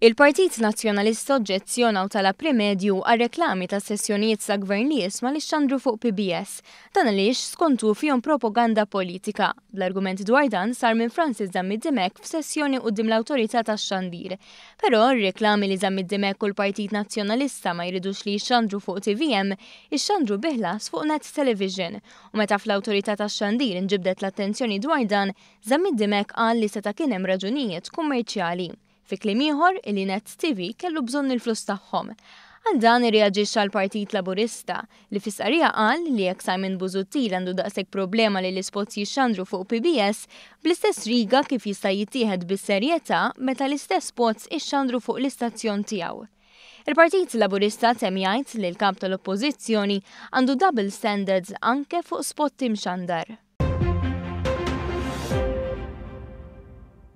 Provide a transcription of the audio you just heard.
Il-Partit Nazzjonalista oġġezzjona u talab rimedju għar-reklami ta' sessjonijiet ta' Gvern li jisma' li xxandru fuq PBS. Dan għaliex skontu fihom propaganda politika. L-argument dwar dan sar minn Francis Zammit Dimech f'sessjoni quddiem l-Awtorità tax-Xandir. Però r-reklami li Zammit Dimech u l-Partit Nazzjonalista ma jridux li jixxandru fuq TVM ixxandru bi ħlas fuq Net Television. U meta fl-Awtorità tax-Xandir inġibdet l-attenzjoni dwar dan, Zammit Dimech qal li seta' kien hemm raġunijiet kummerċjali. Fi kliem ieħor, illi Net TV kellu bżonn il-flus tagħhom. Għal dan irreaġixxa l-Partit Laburista, li fi stqarrija qal li jekk Simon Busuttil għandu daqshekk problema li l-ispots jixxandru fuq PBS, bl-istess riga kif jista' jittieħed bis-serjetà meta l-istess spots ixxandru fuq l-istazzjon tiegħu. Il-Partit Laburista temm jgħid li l-Kap tal-Oppożizzjoni għandu double standards anke fuq spot imxandar.